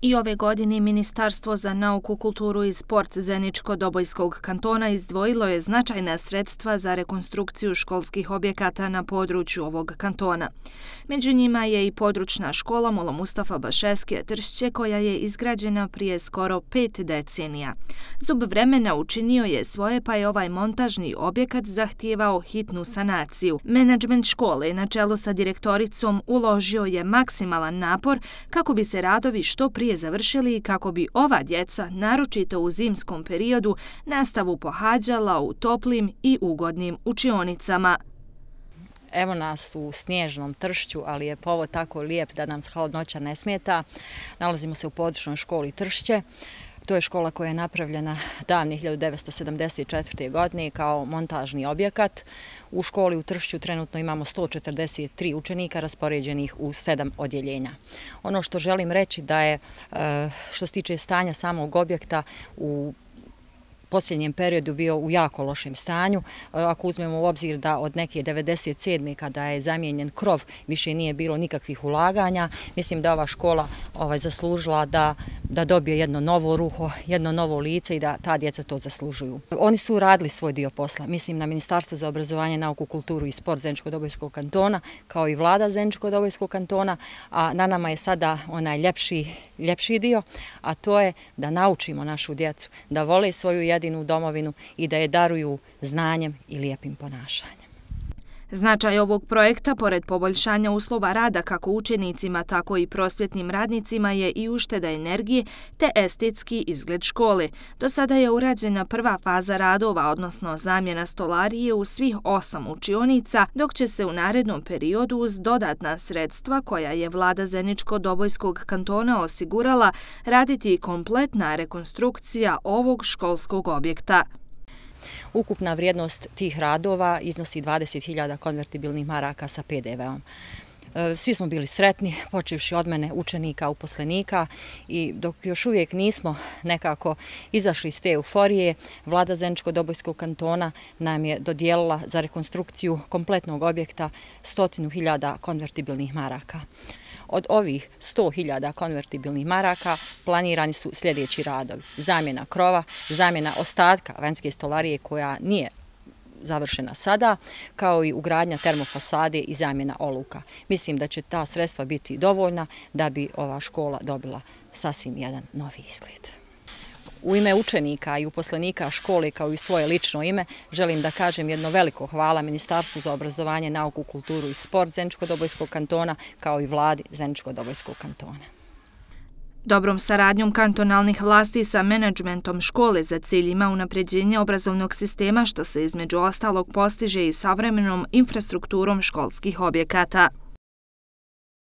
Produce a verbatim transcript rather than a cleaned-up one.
I ove godine Ministarstvo za nauku, kulturu i sport Zeničko-Dobojskog kantona izdvojilo je značajna sredstva za rekonstrukciju školskih objekata na području ovog kantona. Među njima je i područna škola Mulo Mustafa Bašeskije Tršće koja je izgrađena prije skoro pet decenija. Zub vremena učinio je svoje pa je ovaj montažni objekat zahtijevao hitnu sanaciju. Menadžment škole na čelu sa direktoricom uložio je maksimalan napor kako bi se radovi što prije završili i kako bi ova djeca, naročito u zimskom periodu, nastavu pohađala u toplim i ugodnim učionicama. Evo nas u snježnom Tršću, ali je povod tako lijep da nam hladnoća ne smeta. Nalazimo se u područnoj školi Tršće. To je škola koja je napravljena davne hiljadu devetsto sedamdeset četvrte. godine kao montažni objekat. U školi u Tršću trenutno imamo sto četrdeset tri učenika raspoređenih u sedam odjeljenja. Ono što želim reći da je, što se tiče stanja samog objekta, u posljednjem periodu bio u jako lošem stanju. Ako uzmemo u obzir da od neke devedeset sedme kada je zamijenjen krov više nije bilo nikakvih ulaganja, mislim da ova škola ovaj, zaslužila da, da dobije jedno novo ruho, jedno novo lice i da ta djeca to zaslužuju. Oni su radili svoj dio posla. Mislim na Ministarstvo za obrazovanje, nauku, kulturu i sport Zeničko-Dobojskog kantona, kao i vlada Zeničko-Dobojskog kantona, a na nama je sada onaj ljepši, ljepši dio, a to je da naučimo našu djecu da vole svoju jedinu domovinu i da je daruju znanjem i lijepim ponašanjem. Značaj ovog projekta, pored poboljšanja uslova rada kako učenicima, tako i prosvjetnim radnicima, je i ušteda energije te estetski izgled škole. Do sada je urađena prva faza radova, odnosno zamjena stolarije u svih osam učionica, dok će se u narednom periodu uz dodatna sredstva koja je vlada Zeničko-Dobojskog kantona osigurala raditi kompletna rekonstrukcija ovog školskog objekta. Ukupna vrijednost tih radova iznosi dvadeset hiljada konvertibilnih maraka sa pe de veom. Svi smo bili sretni, počevši od mene, učenika, uposlenika, i dok još uvijek nismo nekako izašli iz te euforije, vlada Zeničko-Dobojskog kantona nam je dodijelila za rekonstrukciju kompletnog objekta stotinu hiljada konvertibilnih maraka. Od ovih sto hiljada konvertibilnih maraka planirani su sljedeći radovi: zamjena krova, zamjena ostatka vanjske stolarije koja nije završena sada, kao i ugradnja termofasade i zamjena oluka. Mislim da će ta sredstva biti dovoljna da bi ova škola dobila sasvim jedan novi izgled. U ime učenika i uposlenika škole, kao i svoje lično ime, želim da kažem jedno veliko hvala Ministarstvu za obrazovanje, nauku, kulturu i sport Zeničko-Dobojskog kantona, kao i vladi Zeničko-Dobojskog kantona. Dobrom saradnjom kantonalnih vlasti sa menadžmentom škole za cilj ima unapređenje obrazovnog sistema, što se između ostalog postiže i savremenom infrastrukturom školskih objekata.